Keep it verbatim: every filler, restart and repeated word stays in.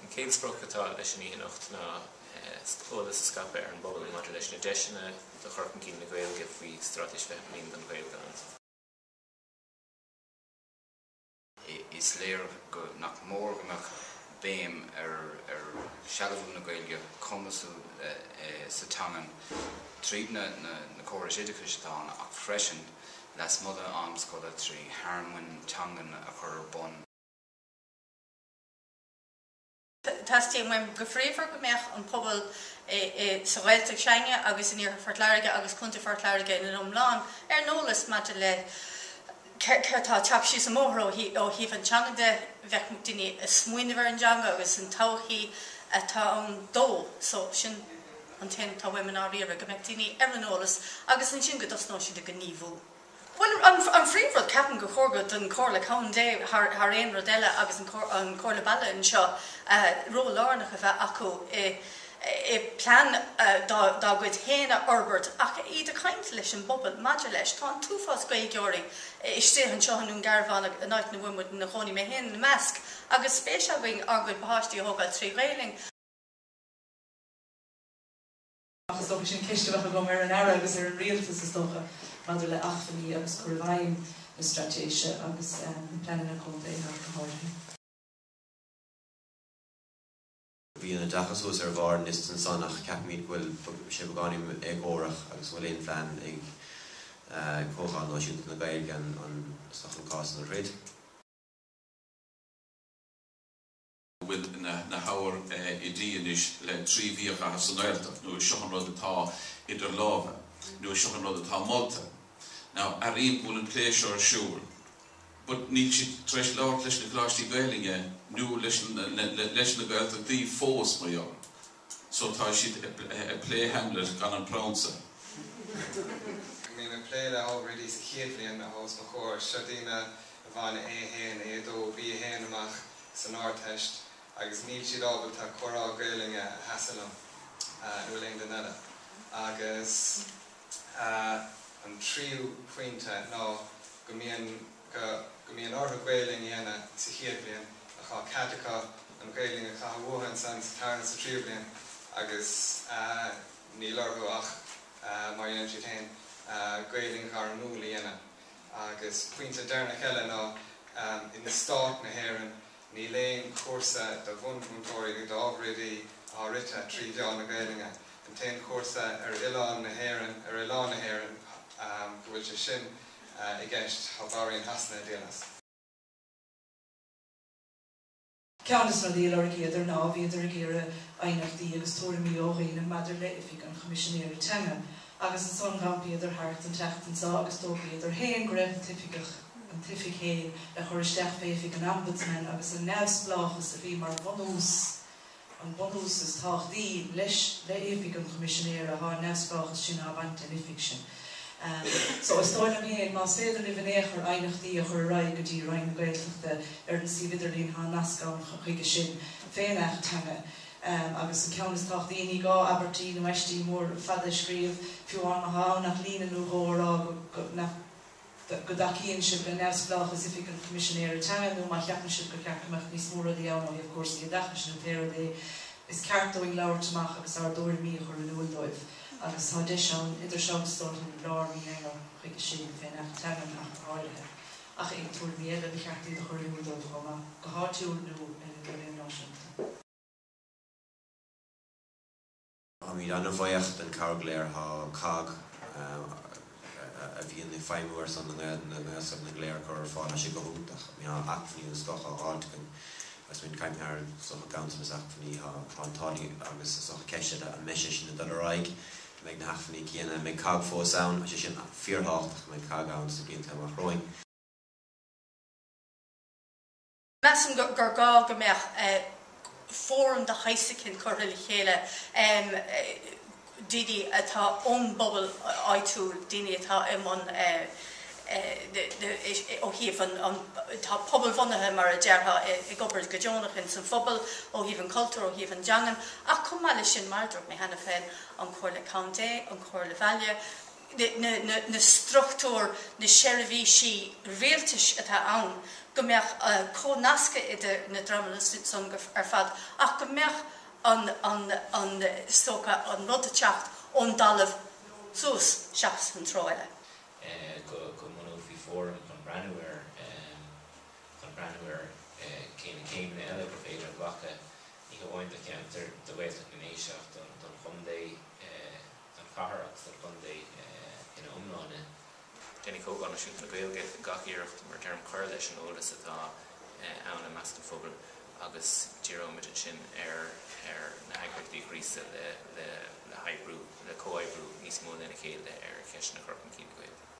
An chéad sprioc atá leis an oíche anocht ná eolas a scaipeadh ar an bpobal maidir leis na deiseanna do chur chun cinn na Gaeilge faoi Straitéis Fiche Bliain don Ghaeilge. Is léir go nach mór go mbeadh béim ar ar sealbhú na Gaeilge, cumasú sa teangain tríd na na córais oideachais atá ann ach freisin lasmuigh den am scoile trí thearmainn teangan a chur ar bun. Teastaíonn uaim go fíormhór go mbeadh an pobal sa Ghaeltacht s'againne agus in iarthar Phort Láirge agus Contae Phort Láirge ina iomlán ar an eolas maidir le céard atá ag teacht síos an bóthar ó thaobh an teanga de, bheadh daoine ag smaoineamh ar an dteanga agus an todhchaí atá ann dó. So sin an t-aon atá uaim i ndáiríre, go mbeadh daoine ar an eolas agus ansin go dtosnóidh siad ag gníomhú. Bhuel, an phríomhrud, ceapaim gur chóir don Chomhairle Contae thar aon rud eile agus an Chomhairle Baile anseo ról lárnach a bheith acu i i plean dá gcuid féin a fhorbairt ach iad ag caint leis an bpobal maidir leis. Tá an t-uafás Gaeilgeoirí istigh anseo i nDún Garbhán, an áit ina bhfuil muid ina chónaí, mé féin ina measc, agus spéis againn ár gcuid páistí a thógáil trí Ghaelainn. Ach is dócha sin ceist a bheadh agam ar an Aire agus ar an Rialtas is dócha maidir le acmhainní agus cur i bhfeidhm na straitéise agus na pleananna contae ach go háirithe. Bhí an oideachas thuas ar bharr an liosta ansan ach ceapaimid go bhfuil sé beagáinín éagórach agus an bhfuil aon phlean ag Comhdháil Náisiúnta na Gaeilge an is dócha an cás san a throid. bhfuil na hábhair oidí anois le trí mhí a chaitheamh sa nGaeltacht nó seo an rud atá idir lámha nó seo an rud atá molta. Now airím go bhfuil an plé seo ar siúl, but níl siad tar éis labhairt leis na coláistí Gaelainne nó leis leis na Gaeltachtaí fós mar gheall. So tá siad ag plé Hamlet gan an prionsa. Bím ag plé le hábhair oidí sa chéad bhliain atá os mo chomhair. Seo daoine a bhain A a haon, A a dó, B a haon amach san Ardteist agus níl siad ábalta comhrá Gaelainne a sheasamh liom nó le aon duine eile. Agus an tríú pointe ná go mbíonn go go mbíonn orthu Gaelainn a dhéanamh sa chéad bhliain ach tá cead acu an Ghaelainn a chaitheamh uathu ansan sa tarna sa tríú bliain agus níl orthu ach mar a dhéanann siad féin Gaelainn ghairmiúil a dhéanamh. Agus pointe deireanach eile ná in stát na hÉireann níl aon chúrsa do bhunmhúinteoirí nó d'ábhair oidí atá rite trí mheán na Gaelainne. An t-aon chúrsa ar oileán na hÉireann ar oileán na hÉireann go bhfuil sé sin i gceist tá Bahrain Shasana ag díol as. Ceann de na rudaí a lorgaíodar ná bhíodar ag iarraidh aighneachtaí agus tuairimí ó dhaoine maidir le Oifig an Choimisinéara Teanga agus ansan dh'iompaíodar thart an tseachtain seo agus d'fhógraíodar féin go raibh an t-oifigeach, an t-oifig féin le chur isteach fé Oifig an Ombudsman agus an neamhspleáchas a bhí mar bhunús an bunús is tábhachtaí leis, le Oifig an Choimisinéara, thá an neamhspleáchas sin á bhaint den oifig sin. So, is dóigh liom féin, más féidir libh in aon chor aighneachtaí a chur ar aghaidh go dtí Roinn na Gaeltachta ar an suíomh idirlín, thá nasc ann chuige sin, fén Acht Teanga. Agus an ceann is tábhachtaí, ní gá abairtí nó aistí mór fada a scríobh, fiú amháin má thá ann ach líne nó dhó a rá go, nach. go dtacaíonn sibh le neamhspleáchas Oifig an Choimisinéara Teanga nó má cheapann sibh gur cheart go mbeadh níos mó rudaí ann ó thaobh cúrsaí oideachais nó pé rud é, is ceart dúinn labhairt amach agus ár dtuairimí a chur in iúl dóibh agus tá deis ann idir seo agus dul lár mí Eanáir chuige sin, fén Acht Teangan ach go háirithe, ach aon tuairimí eile ba cheart iad a chur in iúl dóibh chomh maith, go háitiúil nó ar an leibhéal náisiúnta. Táimid an-bhuíoch den chabhair go léir atá COGG, a bhíonn ag feidhmiú ar son na nGaelscoileanna go léir, a chur ar fáil. Tá sé go hiontach. Tá acmhainní den scoth á fháilt againn agus muid ag caint thar is dócha ganntanas acmhainní. Tá an t-ádh linn agus is dócha ceist eile an mbeidh sé sin ag dul ar aghaidh, an mbeidh na hacmhainní céanna, an mbeidh COGG fós ann? Tá sé sin fíorthábhachtach go mbeidh COGG ann sna blianta amach romhainn. Measaim gur gá go mbeadh fóram de shaghas eicínt curtha le chéile, daoine atá ón bpobal áitiúil, daoine atá i mbun ó thaobh an, atá pobalbhunaithe mar a déarfá, ag obair go deonach ins an phobal, ó thaobh an chultúir, ó thaobh an teangan, ach chomh maith leis sin, mar a dúirt mé cheana féin, an Chomhairle Contae, an Chomhairle Bhaile, na, na, na struchtúir na seirbhísí rialtais atá ann, go mbeadh uh, comhnascadh idir na dreamanna san ar fad, ach go mbeadh an, an, an stoca an rud ag teacht ón dtalamh suas seachas an treo eile. go go mbunófaí fóram chun breathnú ar chun breathnú ar cé na céimeanna eile gur féidir glacadh ní hamháin do cheantar do Ghaeltacht na nDéise ach don don chontae don chathair agus don chontae ina iomláine. Déanfaidh Comhdháil Náisiúnta na Gaeilge gach iarracht mar deirim cur leis an eolas atá ann i measc an phobail agus díreoimid ansin ar ar na heagraíochtaí gríosadh le le le hoibriú le comhoibriú níos mó lena chéile ar cheisteanna chur chun cinn na Gaeilge.